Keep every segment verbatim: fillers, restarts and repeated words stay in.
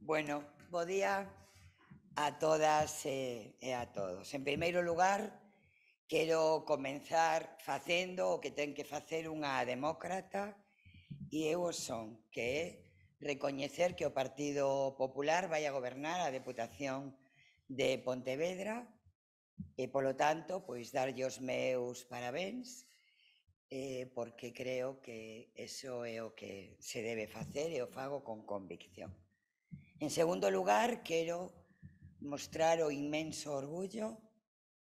Bueno, bo día a todas e, e a todos. En primeiro lugar, quero comenzar facendo o que ten que facer unha demócrata e eu o son, que é recoñecer que o Partido Popular vai a gobernar a Deputación de Pontevedra e, polo tanto, pois darlle os meus parabéns eh, porque creo que eso é o que se debe facer e o fago con convicción. En segundo lugar, quero mostrar o inmenso orgullo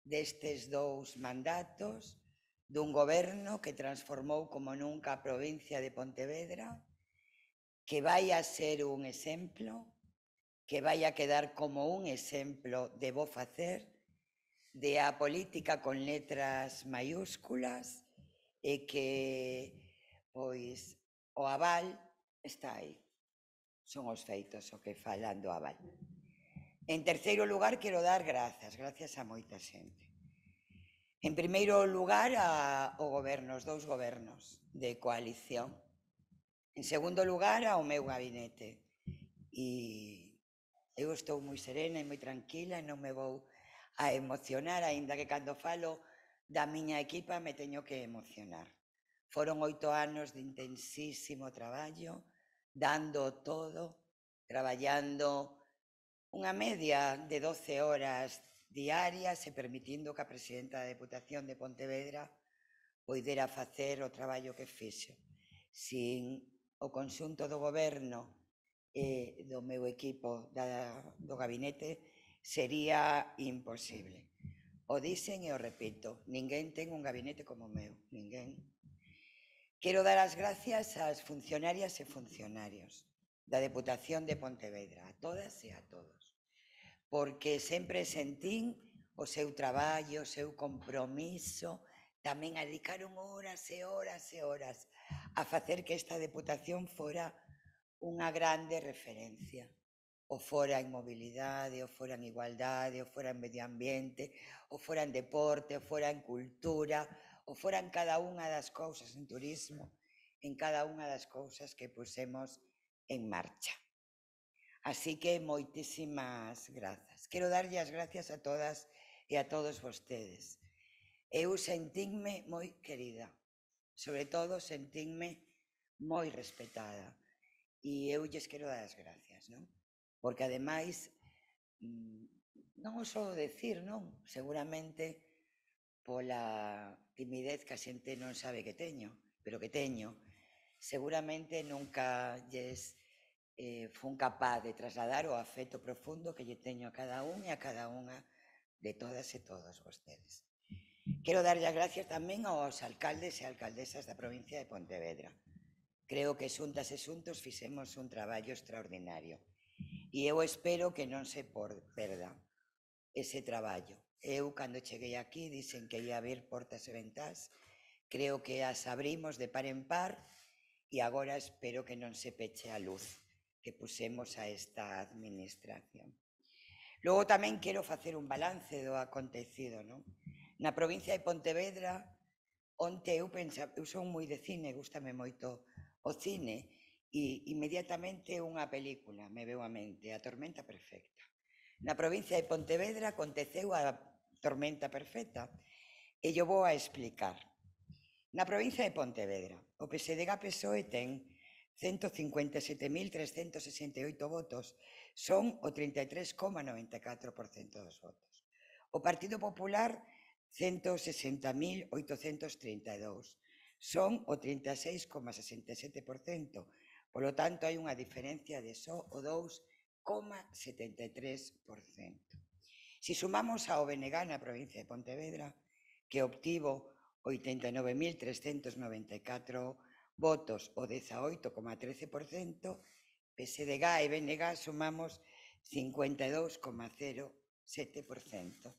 destes dous mandatos dun goberno que transformou como nunca a provincia de Pontevedra, que vai a ser un exemplo, que vai a quedar como un exemplo de bo facer, de a política con letras maiúsculas e que, pois, o aval está aí. Son os feitos o que falan do aval. En terceiro lugar, quero dar grazas, gracias a moita xente. En primeiro lugar, ao goberno, os dous gobernos de coalición. En segundo lugar, ao meu gabinete. E eu estou moi serena e moi tranquila e non me vou a emocionar, aínda que cando falo da miña equipa me teño que emocionar. Foron oito anos de intensísimo traballo, dando todo, traballando unha media de doce horas diarias e permitindo que a presidenta da Deputación de Pontevedra poidera facer o traballo que fixo. Sin o conxunto do goberno e do meu equipo da, do gabinete sería imposible. O dicen e o repito, ninguén ten un gabinete como o meu, ninguén. Quero dar as gracias ás funcionarias e funcionarios da Deputación de Pontevedra, a todas e a todos, porque sempre sentín o seu traballo, o seu compromiso, tamén a dedicaron horas e horas e horas a facer que esta Deputación fora unha grande referencia. O fora en mobilidade, o fora en igualdade, o fora en medio ambiente, o fora en deporte, o fora en cultura, o fora en cada unha das cousas, en turismo, en cada unha das cousas que pusemos en marcha. Así que moitísimas grazas. Quero darlle as gracias a todas e a todos vostedes. Eu sentínme moi querida, sobre todo sentínme moi respetada. E eu lles quero dar as gracias, non? Porque, ademais, non o só decir, non? Seguramente pola timidez que a xente non sabe que teño, pero que teño, seguramente nunca lles eh, fun capaz de trasladar o afecto profundo que lle teño a cada un e a cada unha de todas e todos vostedes. Quero darlle as gracias tamén aos alcaldes e alcaldesas da provincia de Pontevedra. Creo que xuntas e xuntos fixemos un traballo extraordinario e eu espero que non se perda ese traballo. Eu, cando cheguei aquí, dixen que ia abrir portas e ventás, creo que as abrimos de par en par e agora espero que non se peche a luz que pusemos a esta administración. Logo tamén quero facer un balance do acontecido, non? Na provincia de Pontevedra, onte eu pensaba, eu son moi de cine, gústame moito o cine, e inmediatamente unha película me veu a mente, A tormenta perfecta. Na provincia de Pontevedra aconteceu a tormenta perfecta e yo vou a explicar. Na provincia de Pontevedra, o P S D G P S O E ten ciento cincuenta e sete mil trescentos sesenta e oito votos, son o trinta e tres coma noventa e catro por cento dos votos. O Partido Popular, ciento sesenta mil oitocentos trinta e dous, son o trinta e seis coma sesenta e sete por cento, polo tanto hai unha diferencia de só o dous coma setenta e tres por cento. Si sumamos ao B N G na provincia de Pontevedra, que obtivo oitenta e nove mil trescentos noventa e catro votos, o dezaoito coma trece por cento, P S D G e B N G sumamos cincuenta e dous coma cero sete por cento.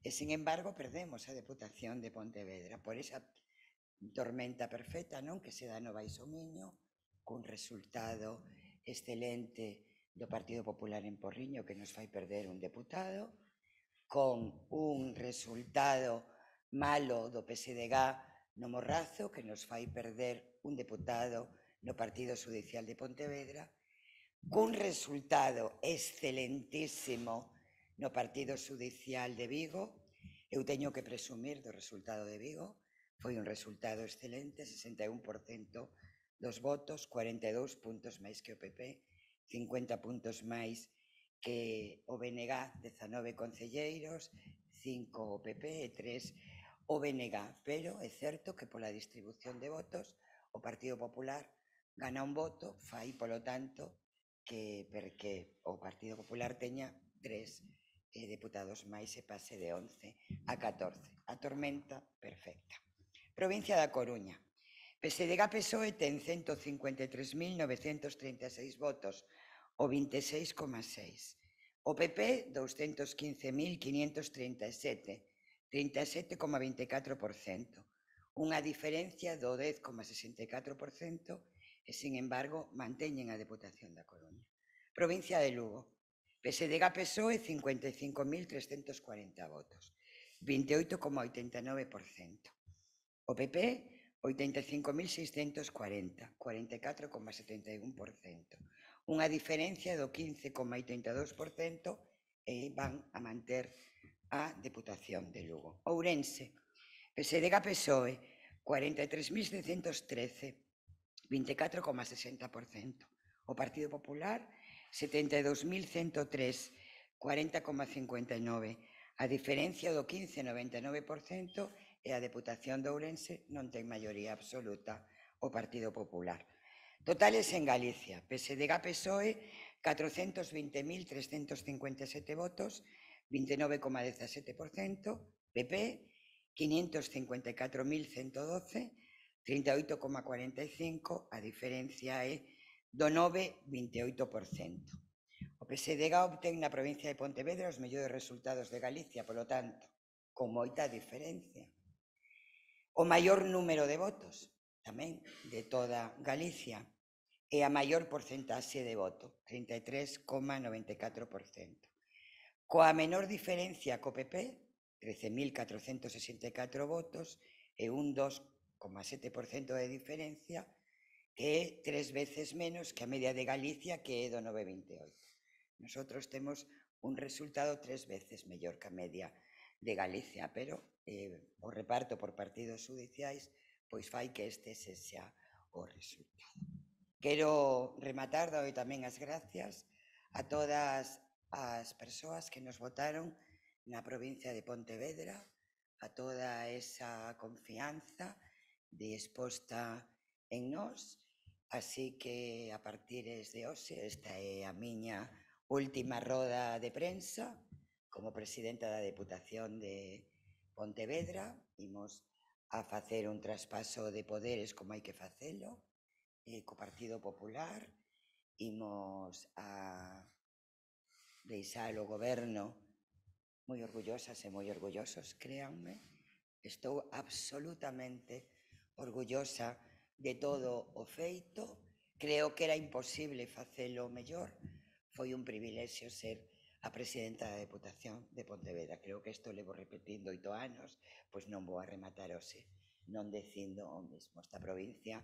E, sin embargo, perdemos a Deputación de Pontevedra por esa tormenta perfecta, non? Que se dá no Baixo Miño, cun resultado excelente do Partido Popular en Porriño que nos fai perder un deputado, con un resultado malo do P S D G no Morrazo que nos fai perder un deputado no Partido Judicial de Pontevedra, cun resultado excelentísimo no partido xudicial de Vigo. Eu teño que presumir do resultado de Vigo. Foi un resultado excelente, sesenta e un por cento dos votos, cuarenta e dous puntos máis que o P P, cincuenta puntos máis que o B N G, dezanove concelleiros, cinco o P P e tres o B N G. Pero é certo que pola distribución de votos o Partido Popular gana un voto, fai, polo tanto, que porque o Partido Popular teña tres eh, deputados máis e pase de once a catorce. A tormenta perfecta. Provincia da Coruña. P S D G P S O E ten cento cincuenta e tres mil novecentos trinta e seis votos, o vinte e seis coma seis. O P P, doscientos quince mil quinientos trinta e sete, trinta e sete coma vinte e catro por cento. Unha diferencia do dez coma sesenta e catro por cento e, sin embargo, manteñen a Deputación da Coruña. Provincia de Lugo. P S D G P S O E, cincuenta e cinco mil trescentos cuarenta votos, vinte e oito coma oitenta e nove por cento. O P P, oitenta e cinco mil seiscentos cuarenta, cuarenta e catro coma setenta e un por cento. Unha diferencia do quince coma oitenta e dous por cento e van a manter a Deputación de Lugo. Ourense. P S D G P S O E, cuarenta e tres mil seiscentos trece, vinte e catro coma sesenta por cento. O Partido Popular, setenta e dous mil cento tres, cuarenta coma cincuenta e nove. A diferencia do quince coma noventa e nove por cento e a Deputación de Ourense non ten maioría absoluta o Partido Popular. Totales en Galicia. P S D G P S O E, catrocentos vinte mil trescentos cincuenta e sete votos, vinte e nove coma dezasete por cento. P P, quinientos cincuenta e catro mil ciento doce, trinta e oito coma cuarenta e cinco, a diferencia é do nove coma vinte e oito por cento. O P S D G obtén na provincia de Pontevedra os mellores resultados de Galicia, polo tanto, con moita diferencia. O maior número de votos, tamén, de toda Galicia, e a maior porcentaxe de voto, trinta e tres coma noventa e catro por cento. Coa menor diferencia co P P, trece mil catrocentos sesenta e catro votos e un dos coma sete por cento de diferencia, que é tres veces menos que a media de Galicia, que é do nove coma vinte e oito. Nosotros temos un resultado tres veces mellor que a media de Galicia, pero eh, o reparto por partidos judiciais pois fai que este sexa o resultado. Quero rematar, dou tamén as gracias a todas as persoas que nos votaron na provincia de Pontevedra, a toda esa confianza disposta en nós, así que a partir de hoxe esta é a miña última roda de prensa como presidenta da Deputación de Pontevedra. Imos a facer un traspaso de poderes como hai que facelo, eh, co Partido Popular, imos a deixar o goberno moi orgullosas e moi orgullosos, créanme. Estou absolutamente orgullosa de todo o feito. Creo que era imposible facelo mellor. Foi un privilexio ser a presidenta da Deputación de Pontevedra. Creo que isto levo repetindo oito anos, pois non vou a rematar hoxe non dicindo o mesmo. Esta provincia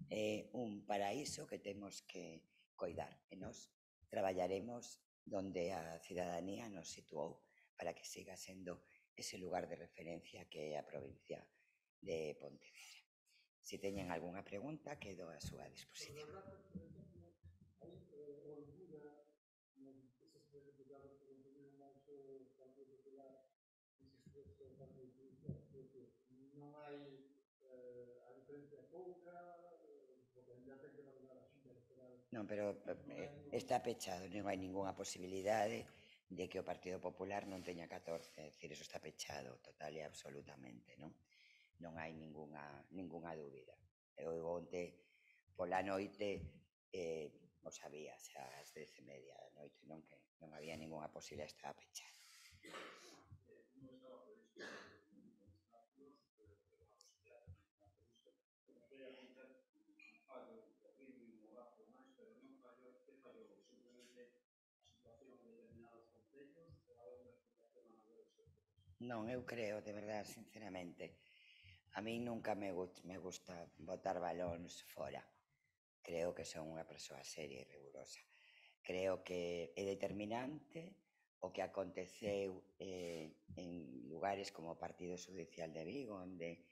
é un paraíso que temos que coidar e nós traballaremos donde a cidadanía nos situou para que siga sendo ese lugar de referencia que é a provincia de Pontevedra. Se teñen algunha pregunta, quedo a súa disposición. Non hai eh, a diferencia pouca, porque ya ten que valorar a xunta electoral. Non, pero eh, está pechado, non hai ningunha posibilidade de que o Partido Popular non teña catorce, é dicir, eso está pechado total e absolutamente, non? Non hai ningunha, ningunha dúbida. Eu onte pola noite eh, o sabía, xa ás dez e media da noite, non, que non había ningunha posibilidade, estaba pechado. Non, eu creo, de verdade, sinceramente, a mí nunca me, gust, me gusta botar balóns fora. Creo que son unha persoa seria e rigurosa. Creo que é determinante o que aconteceu eh, en lugares como o Partido Judicial de Vigo, onde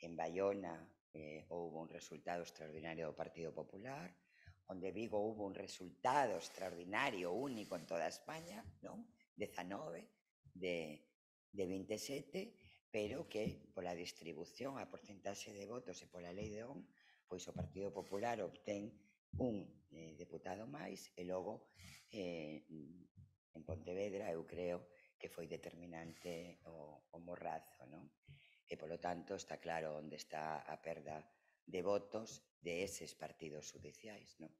en Baiona eh, houve un resultado extraordinario do Partido Popular, onde Vigo houve un resultado extraordinario, único en toda España, non? dezanove de, de vinte e sete, pero que pola distribución, a porcentaxe de votos e pola lei de O N, pois o Partido Popular obtén un eh, deputado máis e logo eh, en Pontevedra eu creo que foi determinante o, o morrazo, non? E, polo tanto, está claro onde está a perda de votos de eses partidos judiciais, non?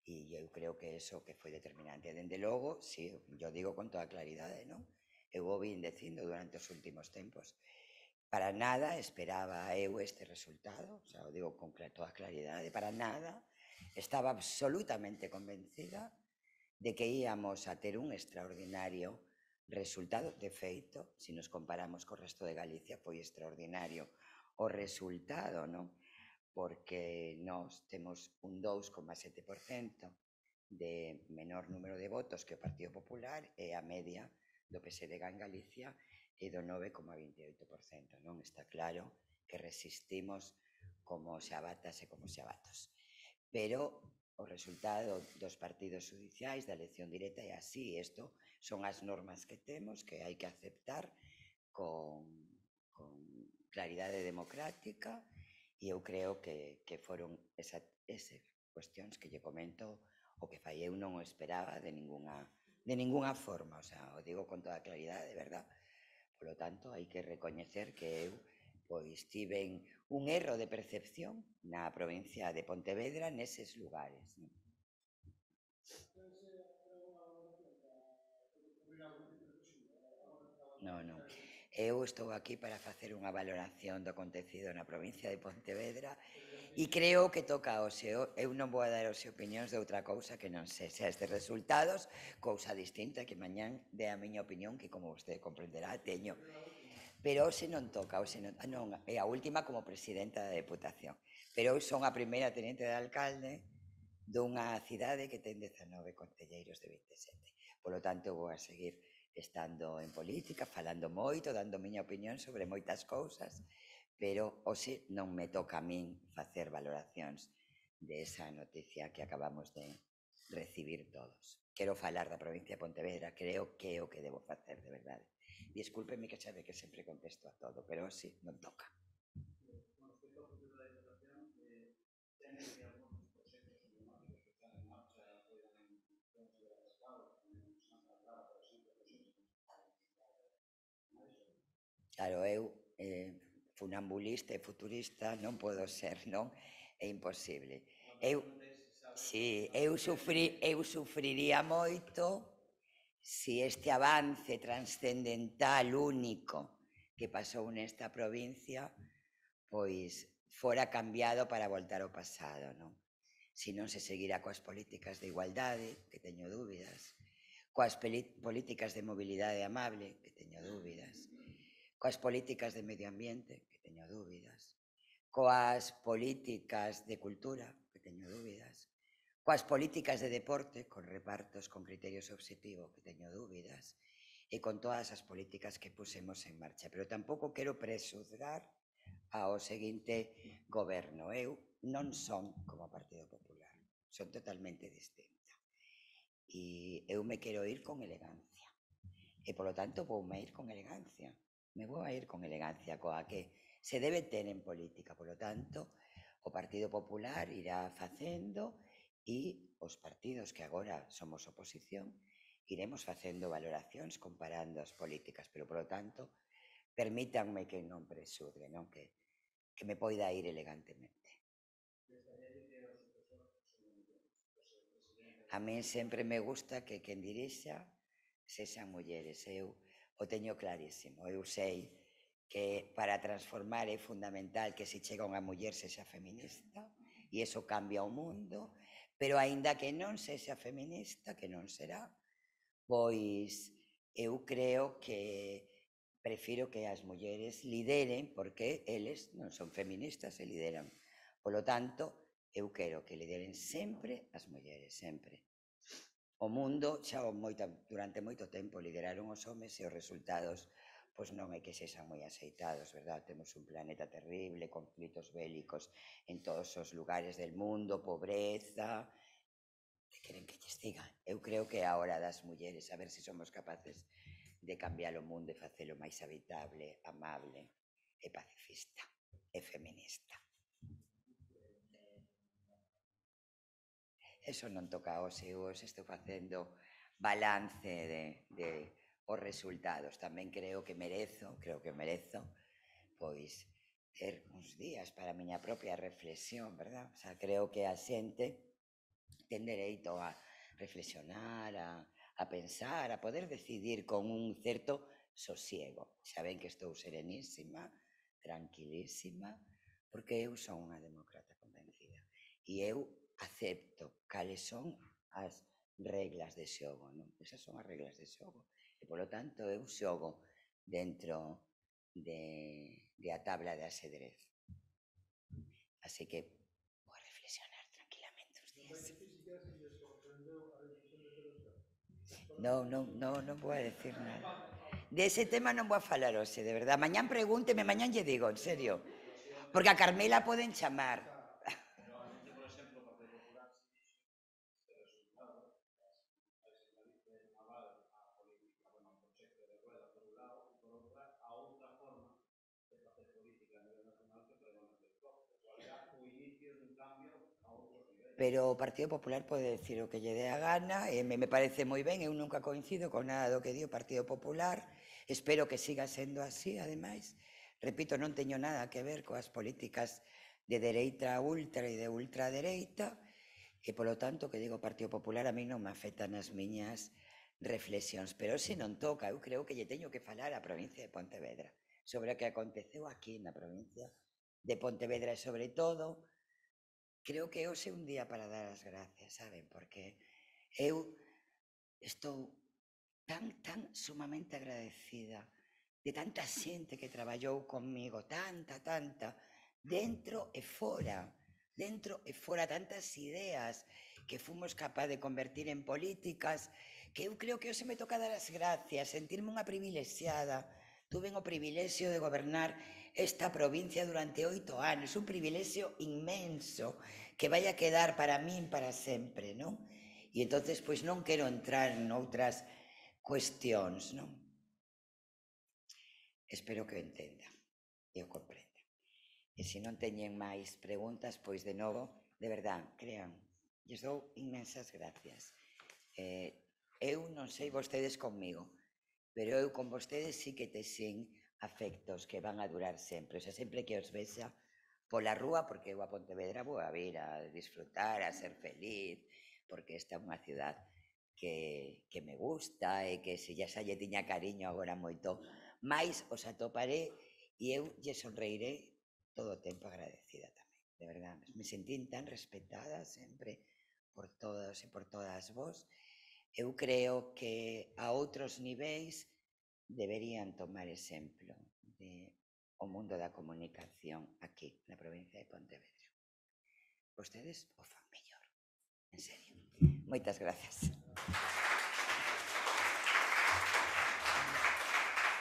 E eu creo que eso que foi determinante. Dende logo, si, yo digo con toda claridade, non? Eu o vin dicindo durante os últimos tempos. Para nada esperaba eu este resultado, o sea, o digo con toda claridade, para nada. Estaba absolutamente convencida de que íamos a ter un extraordinario resultado. De feito, se nos comparamos co resto de Galicia, foi extraordinario o resultado, non? Porque nós temos un dous coma sete por cento de menor número de votos que o Partido Popular e a media do P S D G en Galicia e do nove coma vinte e oito por cento, non? Está claro que resistimos como xabatas e como xabatos. Pero o resultado dos partidos judiciais, da elección directa é así. Isto son as normas que temos, que hai que aceptar con, con claridade democrática, e eu creo que, que foron esa, ese cuestións que lle comento o que fai. Eu non o esperaba de ninguna, de ninguna forma, o sea, o digo con toda claridade, de verdad. Por lo tanto, hai que recoñecer que eu pois tiven un erro de percepción na provincia de Pontevedra neses lugares. Non, non. Eu estou aquí para facer unha valoración do acontecido na provincia de Pontevedra e creo que toca ao seu. Eu non vou a dar os opinións de outra cousa que non sei se estes resultados, cousa distinta que mañán dé a miña opinión, que como vostede comprenderá, teño. Pero hoxe non toca, hoxe non, non, é a última como presidenta da Deputación. Pero eu son a primeira tenente de alcalde dunha cidade que ten dezanove concelleiros de vinte e sete. Por lo tanto, vou a seguir estando en política, falando moito, dando miña opinión sobre moitas cousas, pero hoxe non me toca a min facer valoracións de esa noticia que acabamos de recibir todos. Quero falar da provincia de Pontevedra, creo que é o que debo facer, de verdade. Discúlpeme que sabe que sempre contesto a todo, pero hoxe non toca. Claro, eu eh, funambulista e futurista non podo ser, non? É imposible. Eu, si, eu, sufri, eu sufriría moito si este avance transcendental único que pasou nesta provincia pois fora cambiado para voltar ao pasado, non? Se non se seguirá coas políticas de igualdade, que teño dúbidas, coas políticas de mobilidade amable, que teño dúbidas, coas políticas de medio ambiente, que teño dúbidas, coas políticas de cultura, que teño dúbidas, coas políticas de deporte, con repartos con criterios obxectivos, que teño dúbidas, e con todas as políticas que pusemos en marcha. Pero tampouco quero presuzgar ao seguinte goberno. Eu non son como o Partido Popular, son totalmente distinta. E eu me quero ir con elegancia. E, polo tanto, voume ir con elegancia. Me vou a ir con elegancia coa que se debe ter en política. Polo tanto, o Partido Popular irá facendo e os partidos que agora somos oposición iremos facendo valoracións comparando as políticas, pero, polo tanto, permítanme que non presurde, non? Que, que me poida ir elegantemente. A min sempre me gusta que quen dirixa sexan mulleres. Eu o teño clarísimo. Eu sei que para transformar é fundamental que se chega unha muller sexa feminista e iso cambia o mundo, pero aínda que non sexa feminista, que non será, pois eu creo que prefiro que as mulleres lideren porque eles non son feministas e lideran. Polo tanto, eu quero que lideren sempre as mulleres, sempre. o mundo xa moita, durante moito tempo lideraron os homes e os resultados pois non é que sexan moi aceitados, verdad? Temos un planeta terrible, conflitos bélicos en todos os lugares del mundo, pobreza. Que queren que lles diga? Eu creo que é a hora das mulleres, a ver se somos capaces de cambiar o mundo e facelo máis habitable, amable e pacifista e feminista. Eso non toca aos eu, os estou facendo balance de, de os resultados. Tamén creo que merezo, creo que merezo, pois, ter uns días para a miña propia reflexión, verdad? O sea, creo que a xente ten dereito a reflexionar, a, a pensar, a poder decidir con un certo sosiego. Xa ven que estou serenísima, tranquilísima, porque eu son unha demócrata convencida. E eu acepto cales son as reglas de xogo, non? Esas son as reglas de xogo. E, polo tanto, eu xogo dentro de, de a tabla de asedrez. Así que vou a reflexionar tranquilamente uns días. Non, non, non, non vou a decir nada. De ese tema non vou a falar hoxe, de verdad. Mañán pregúnteme, mañán lle digo, en serio. Porque a Carmela poden chamar. Pero o Partido Popular pode decir o que lle dé a gana e me, me parece moi ben, eu nunca coincido con nada do que di o Partido Popular, espero que siga sendo así, ademais. Repito, non teño nada que ver coas políticas de dereita ultra e de ultradereita e, polo tanto, que digo o Partido Popular a mí non me afectan as miñas reflexións, pero se non toca, eu creo que lle teño que falar á provincia de Pontevedra sobre o que aconteceu aquí na provincia de Pontevedra e, sobre todo, creo que hoxe é un día para dar as gracias, saben? Porque eu estou tan, tan sumamente agradecida de tanta xente que traballou comigo, tanta, tanta, dentro e fora, dentro e fora, tantas ideas que fomos capaz de convertir en políticas, que eu creo que hoxe me toca dar as gracias, sentirme unha privilexiada. Tuve o privilexio de gobernar esta provincia durante oito anos, un privilexio inmenso que vai a quedar para min para sempre, non? E entonces, pois non quero entrar en outras cuestións, non? Espero que o entenda e o comprenda. E se non teñen máis preguntas, pois de novo, de verdad, crean, lles dou inmensas gracias. Eh, eu non sei vostedes conmigo, pero eu con vostedes sí que texen afectos que van a durar sempre. O sea, sempre que os vexa pola rúa, porque eu a Pontevedra vou a vir a disfrutar, a ser feliz, porque esta é unha ciudad que, que me gusta e que se xa xa lle tiña cariño agora moito máis os atoparé e eu lle sonreiré todo o tempo agradecida tamén, de verdad. Me sentín tan respetada sempre por todos e por todas vos. Eu creo que a outros niveis deberían tomar exemplo de o mundo da comunicación aquí, na provincia de Pontevedra. Vostedes o fan mellor, en serio. Moitas grazas.